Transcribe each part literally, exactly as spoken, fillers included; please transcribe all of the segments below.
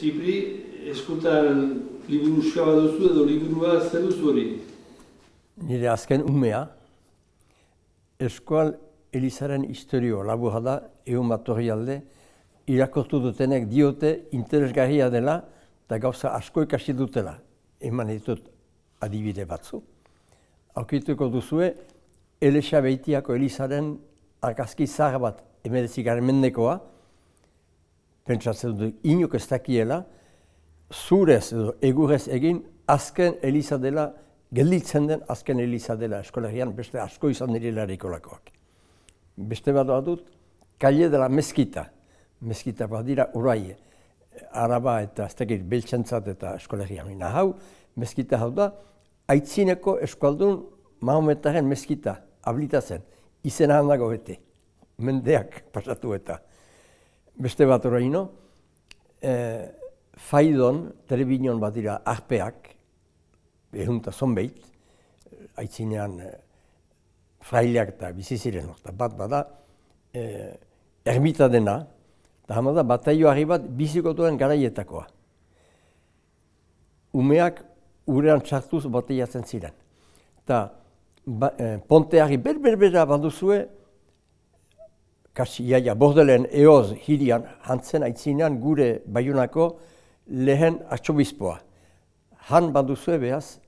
Zipri, eskutan liburu bat duzu edo liburua zer duzu hori? Nire azken umea, Eskual Elizaren historio laburra da, egun bat horri alde, irakortu dutenek diote interesgarria dela eta gauza asko ikasi dutela. Eman ditut adibide batzu. Aurkituko duzue, Elesa Beitiako Elizaren argazki zahar bat hemeretzigarren mendekoa, pentsatzen dut inok ez dakiela, zurez edo egurez egin azken Eliza dela, gelditzen den azken Eliza dela Eskolegian, beste asko izan direlarik olakoak. Beste bat dut, Calle de la Mezquita. Mezquita bat dira orai, Araba eta ez dakit beltzentzat eta Eskolegian. Hau, Mezquita hau da, aitzineko eskualdun Mahometaren Mezquita, ablitazen, izena handago bete, mendeak pasatu eta. Beste bat oraino, eh, Faidon, Trebiñon bat dira arpeak, ehunta zonbeit, aitzinean eh, fraileak eta biziziren, eta bat bada, eh, ermita dena, eta hama da, bataioari bat bizikotuen garaietakoa. Umeak urean txartuz bataiatzen ziren. Eta ba, eh, ponteari berberbera baduzue, kasi iaia Bordelen eoz hirian, hantzen aitzinean gure Baionako lehen atxobizpoa. Han baduzue behaz,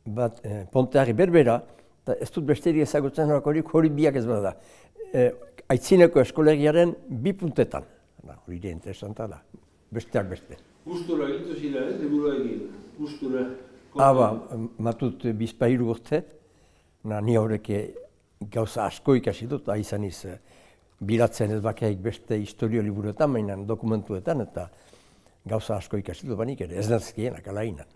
bat, eh, ponteari berbera, eta ez dut besteri ezagutzen horik hori biak ez bada. Eh, aitzineko eskolegiaren bi puntetan. Hori da interesanta da, besteak beste. Gustura egitu zira, ez? Liburua egin. Gustura. Aba, matut bizpairu urte, na, ni horrek gauza asko ikasi dut, izan iz, bilatzen ez bakiaik beste historio liburuetan, mainan dokumentuetan, eta gauza asko ikasi dut banik ere, ez nazkienak, alainan.